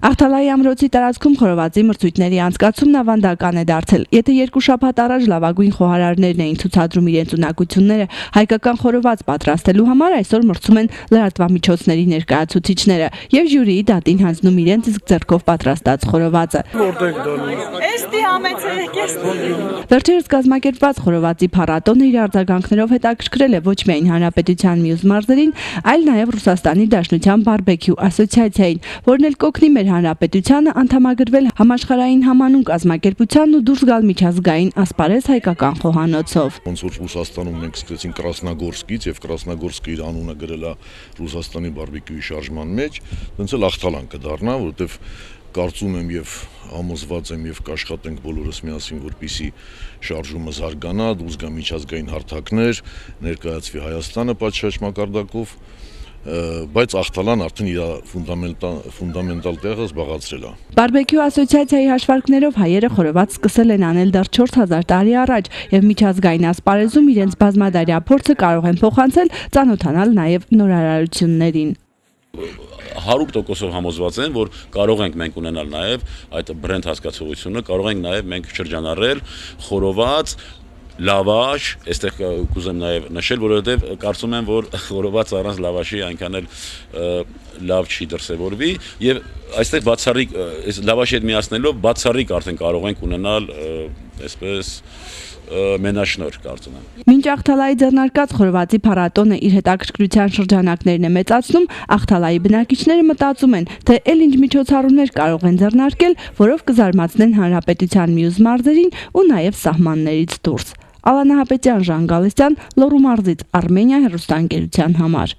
Աղթալայի ամրոցի տարածքում խորովածի մրցույթների անցկացումն ավանդական է դարձել։ Եթե 2 շաբաթ առաջ լավագույն խոհարարներն էին ցուցադրում իրենց ունակությունները հայկական խորոված պատրաստելու համար, այսօր մրցում են լրատվամիջոցների ներկայացուցիչները եւ ժյուրիի դատին հանձնում իրենց իսկ ձեռքով պատրաստած խորովածը։ Վերջերս կազմակերպված խորովածի փառատոնը իր արձագանքներով հետաքրքրել է ոչ միայն հանրապետության մյուս մարզերին, այլ նաեւ Ռուսաստանի Դաշնության բարբեկյու ասոցիացիային, որն էլ կօգնի մեր հանրապետությանը անդամագրվել համաշխարհային համանուն կազմակերպությանն ու դուրս գալ միջազգային ասպարեզ հայկական խոհանոցով։ Ոնց որ Ռուսաստանում մենք սկսեցինք Կրասնագորսկից եւ Կրասնագորսկը իր անունը գրել է Ռուսաստանի բարբեկյուի շարժման մեջ, տենց էլ Աղթալան կդառնա, որովհետեւ կարծում եմ եւ համոզված եմ եւ կաշխատենք բոլորս միասին, որպեսզի շարժումը զարգանա, դուրս գա միջազգային հարթակներ, ներկայացվի Հայաստանը պատշաճ մակարդակով, բայց Աղթալան արդեն իր ֆունդամենտալ տեղը զբաղացրել է։ Բարբեկյու ասոցիացիայի հաշվարկներով հայերը խորոված սկսել են անել դեռ 4000 տարի առաջ եւ միջազգային ասպարեզում իրենց բազմադարյա փորձը կարող են փոխանցել, ծանոթանալ նաեւ նորարարություններին։ 100% համոզված են, որ կարող ենք մենք ունենալ նաև այդ բրենդ հասկացողությունը, կարող ենք նաև մենք շրջանառել խորոված, լավաշ, այստեղ կուզեմ նաև նշել, որովհետև կարծում եմ, որ խորոված առանց լավաշի այնքան էլ լավ չի դրսևորվի եւ այստեղ բացառիկ լավաշի հետ միացնելով բացառիկ արդեն կարող ենք ունենալ այսպես մենաշնոր կարծում եմ։ Մինչ Աղթալայի ձեռնարկած խորովածի փառատոնը իր հետաքրքրության շրջանակներն է մեծացնում, Աղթալայի բնակիչները մտածում են, թե էլ ինչ միջոցառումներ կարող են ձեռնարկել, որով կզարմացնեն հանրապետության մյուս մարզերին ու նաև սահմաններից դուրս։ Ալանա Հապետյան, Ժան Գալստյան, Լոռու մարզից, Արմենիա հեռուստաընկերության համար։